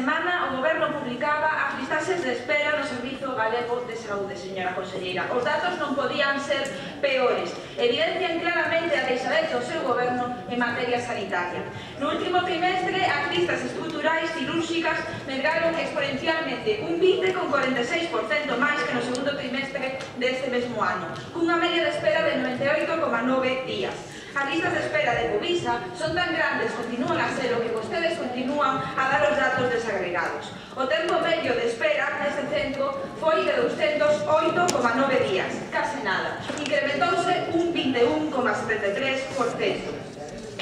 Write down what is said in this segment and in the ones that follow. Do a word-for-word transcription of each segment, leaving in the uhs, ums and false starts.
semana o Goberno publicaba as listaxes de espera no Servizo Galego de Saúde, señora conselleira. Os datos non podían ser peores. Evidencian claramente a deixadez do seu Goberno en materia sanitaria. No último trimestre, as listas estruturais cirúrxicas medraron exponencialmente un vinte coma cuarenta e seis por cento máis que no segundo trimestre deste mesmo ano, cunha media de espera de noventa e oito coma nove días. As listas de espera de Povisa son tan grandes, continúan a ser o que vostedes continúan a dar os datos desagregados. O tempo medio de espera neste centro foi de douscentos oito coma nove días, case nada. Incrementouse un vinte e un coma setenta e tres por cento.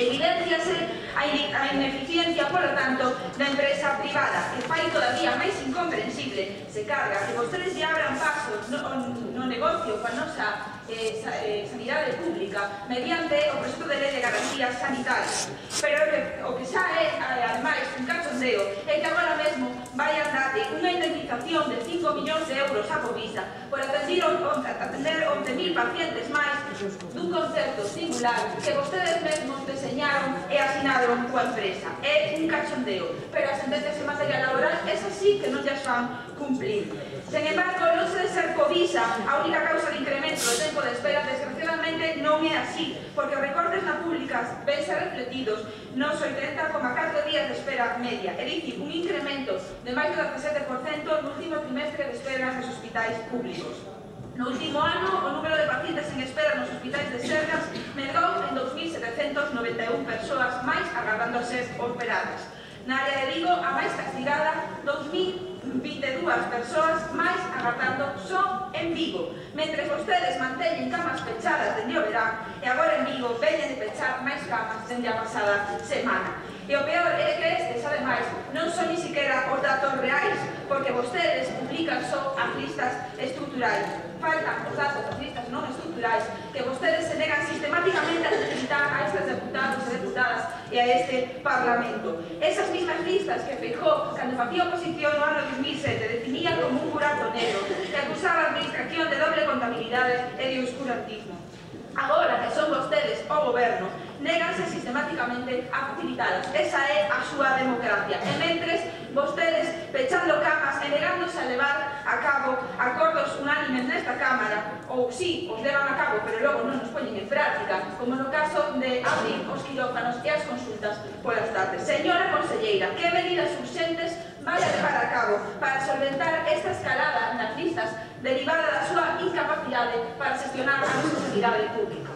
Evidenciase a ineficiencia, por lo tanto, da empresa privada, que fai todavía máis incomprensible se carga que vostedes lle abran paso no, no negocio coa nosa eh, sanidade pública mediante o proxecto de lei de garantías sanitarias. Pero o que xa é, ademais, un cachondeo é que agora mesmo vai a darle unha indemnización de cinco millóns de euros a Povisa por atender once mil pacientes máis dun concepto singular que vostedes mesmos deseñaron e asinaron coa empresa. É un cachondeo, pero as sentencias en materia laboral es así que non llas fan cumplir. Sen embargo, non se de ser Povisa a única causa de incremento do tempo de espera, desgraciadamente non é así, porque os recortes na públicas vense refletidos nos oitenta coma catro días de espera media, é dicir, un incremento de máis do dezasete por cento no último trimestre de espera nos hospitais públicos. No último ano, o número de pacientes en espera nos hospitais de Sergas medrou en dous mil setecentos noventa e un persoas máis agardando a ser operadas. Na área de Vigo, a máis castigada, dous mil vinte e dúas persoas máis agardando só en Vigo, mentre vostedes manteñen camas pechadas dende o verán e agora en Vigo veñen de pechar máis camas dende a pasada semana. E o peor é que estes, ademais, non son ni siquiera os datos reais, porque vostedes publican só as listas estruturais. Faltan os datos das listas non estruturais que vostedes se negan sistemáticamente a facilitar a estes deputados e deputadas e a este Parlamento. Esas mismas listas que Feijóo, cando facía oposición no ano dos mil sete, definía como un buraco negro que acusaba a administración de doble contabilidade e de oscurantismo. Agora que son vostedes o Goberno, néganse sistemáticamente a facilitalas. Esa é a súa democracia. E mentres, vostedes pechando camas e negándose a levar a cabo acordos unánimes nesta Cámara, ou sí, os levan a cabo, pero logo non nos poñen en práctica, como no caso de abrir os quirófanos e as consultas polas tardes. Señora conselleira, que medidas urxentes vai a levar a cabo para solventar esta escalada nas listas derivada da súa incapacidade para xestionar a nosa sanidade pública?